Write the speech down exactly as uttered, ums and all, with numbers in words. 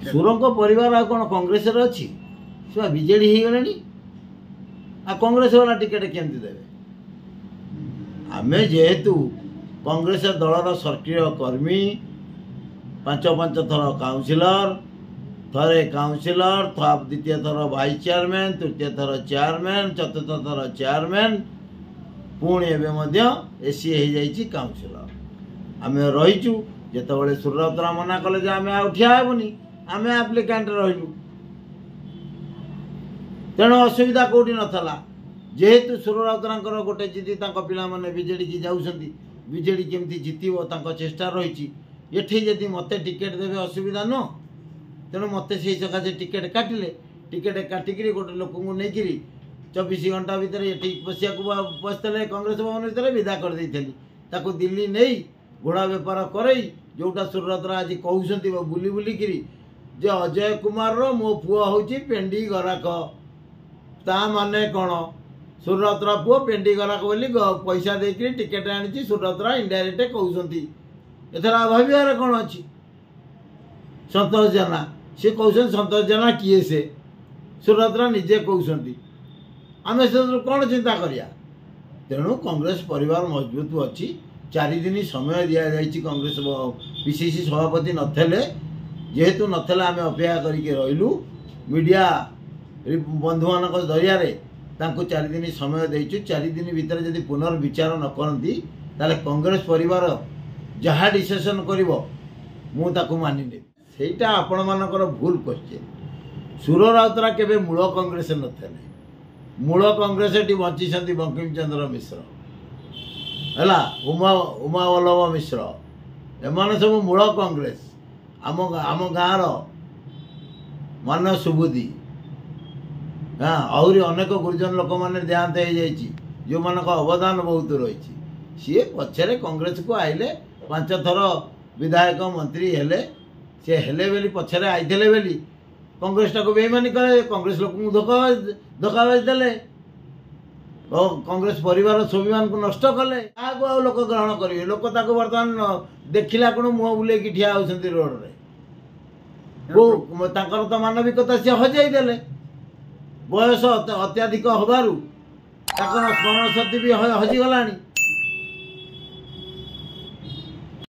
ସୁରଙ୍କ ପରିବାର ଆଉ କ'ଣ କଂଗ୍ରେସରେ ଅଛି? ସେ ବା ବିଜେଡ଼ି ହେଇଗଲେଣି, ଆଉ କଂଗ୍ରେସ ବାଲା ଟିକେଟ୍ କେମିତି ଦେବେ? ଆମେ ଯେହେତୁ କଂଗ୍ରେସ ଦଳର ସକ୍ରିୟ କର୍ମୀ, ପାଞ୍ଚ ପାଞ୍ଚ ଥର କାଉନସିଲର, ଥରେ କାଉନସିଲର, ଦ୍ୱିତୀୟ ଥର ଭାଇସ୍ ଚେୟାରମ୍ୟାନ୍, ତୃତୀୟ ଥର ଚେୟାରମ୍ୟାନ୍, ଚତୁର୍ଥ ଥର ଚେୟାରମ୍ୟାନ୍, ପୁଣି ଏବେ ମଧ୍ୟ ଏସି ହେଇଯାଇଛି କାଉନସିଲର। ଆମେ ରହିଛୁ। ଯେତେବେଳେ ସୁର ରାଉତରା ମନା କଲେ ଯେ ଆମେ ଆଉ ଠିଆ ହେବୁନି, ଆମେ ଆପ୍ଲିକାଣ୍ଟ ରହିଲୁ। ତେଣୁ ଅସୁବିଧା କେଉଁଠି ନଥିଲା। ଯେହେତୁ ସୁର ରାଉତରାଙ୍କର ଗୋଟେ ଜିଦି, ତାଙ୍କ ପିଲାମାନେ ବିଜେଡ଼ିକି ଯାଉଛନ୍ତି, ବିଜେଡ଼ି କେମିତି ଜିତିବ ତାଙ୍କ ଚେଷ୍ଟା ରହିଛି। ଏଠି ଯଦି ମୋତେ ଟିକେଟ୍ ଦେବେ ଅସୁବିଧା ନୁହଁ। ତେଣୁ ମୋତେ ସେଇ ସକାଶେ ଟିକେଟ୍ କାଟିଲେ। ଟିକେଟ୍ କାଟିକିରି ଗୋଟେ ଲୋକଙ୍କୁ ନେଇକିରି ଚବିଶ ଘଣ୍ଟା ଭିତରେ ଏଠି ପଶିବାକୁ ପଶିଥିଲେ କଂଗ୍ରେସ ଭବନ ଭିତରେ, ବିଦା କରିଦେଇଥିଲି। ତାକୁ ଦିଲ୍ଲୀ ନେଇ ଘୋଡ଼ା ବେପାର କରେଇ, ଯେଉଁଟା ସୁର ରାଉତରା ଆଜି କହୁଛନ୍ତି ବୁଲି ବୁଲିକିରି ଯେ ଅଜୟ କୁମାରର ମୋ ପୁଅ ହେଉଛି ପେଣ୍ଡି ଗରାଖ, ତା ମାନେ କ'ଣ? ସୁର ରାଉତରା ପୁଅ ପେଣ୍ଡି ଗରାଖ ବୋଲି ପଇସା ଦେଇକିରି ଟିକେଟ୍ ଆଣିଛି ସୁର ରାଉତରା ଇନଡାଇରେକ୍ଟ କହୁଛନ୍ତି। ଏଥର ଆଉ ଭାବିବାର କ'ଣ ଅଛି? ସନ୍ତୋଷ ଜେନା, ସେ କହୁଛନ୍ତି ସନ୍ତୋଷ ଜେନା କିଏ? ସେ ସୁର ରାଉତରା ନିଜେ କହୁଛନ୍ତି। ଆମେ ସେଥିରୁ କ'ଣ ଚିନ୍ତା କରିବା? ତେଣୁ କଂଗ୍ରେସ ପରିବାର ମଜବୁତ ଅଛି। ଚାରିଦିନ ସମୟ ଦିଆଯାଇଛି। କଂଗ୍ରେସ ପି ସି ସି ସଭାପତି ନଥିଲେ, ଯେହେତୁ ନଥିଲେ ଆମେ ଅପେକ୍ଷା କରିକି ରହିଲୁ। ମିଡ଼ିଆ ବନ୍ଧୁମାନଙ୍କ ଜରିଆରେ ତାଙ୍କୁ ଚାରିଦିନ ସମୟ ଦେଇଛୁ। ଚାରିଦିନ ଭିତରେ ଯଦି ପୁନର୍ବିଚାର ନ କରନ୍ତି, ତାହେଲେ କଂଗ୍ରେସ ପରିବାର ଯାହା ଡିସିସନ୍ କରିବ ମୁଁ ତାକୁ ମାନିନେବି। ସେଇଟା ଆପଣମାନଙ୍କର ଭୁଲ କ୍ୱେଶ୍ଚିନ୍। ସୁର ରାଉତରା କେବେ ମୂଳ କଂଗ୍ରେସ ନଥିଲେ। ମୂଳ କଂଗ୍ରେସ ଏଠି ବଞ୍ଚିଛନ୍ତି ବଙ୍କିମଚନ୍ଦ୍ର ମିଶ୍ର, ହେଲା ଉମା ଉମାବଲ୍ଲଭ ମିଶ୍ର, ଏମାନେ ସବୁ ମୂଳ କଂଗ୍ରେସ। ଆମ ଆମ ଗାଁର ମାନ ସୁବୁଦ୍ଧି, ହଁ, ଆହୁରି ଅନେକ ଗୁରୁଜନ ଲୋକମାନେ ଦେହାନ୍ତ ହେଇଯାଇଛି, ଯେଉଁମାନଙ୍କ ଅବଦାନ ବହୁତ ରହିଛି। ସିଏ ପଛରେ କଂଗ୍ରେସକୁ ଆଇଲେ, ପାଞ୍ଚ ଥର ବିଧାୟକ ମନ୍ତ୍ରୀ ହେଲେ। ସେ ହେଲେ ବୋଲି, ପଛରେ ଆଇଥିଲେ ବୋଲି କଂଗ୍ରେସଟାକୁ ବେଇମାନି କଲେ, କଂଗ୍ରେସ ଲୋକଙ୍କୁ ଧୋକା ଧୋକାବାଜି ଦେଲେ, କଂଗ୍ରେସ ପରିବାର ସ୍ୱାଭିମାନକୁ ନଷ୍ଟ କଲେ। କାହାକୁ ଆଉ ଲୋକ ଗ୍ରହଣ କରିବେ? ଲୋକ ତାକୁ ବର୍ତ୍ତମାନ ଦେଖିଲା କ'ଣ ମୁହଁ ବୁଲେଇକି ଠିଆ ହେଉଛନ୍ତି ରୋଡ଼ରେ। ତାଙ୍କର ତ ମାନବିକତା ସିଏ ହଜେଇ ଦେଲେ। ବୟସ ଅତ୍ୟଧିକ ହେବାରୁ ତାଙ୍କର ସ୍ମରଣ ଶକ୍ତି ବି ହଜିଗଲାଣି।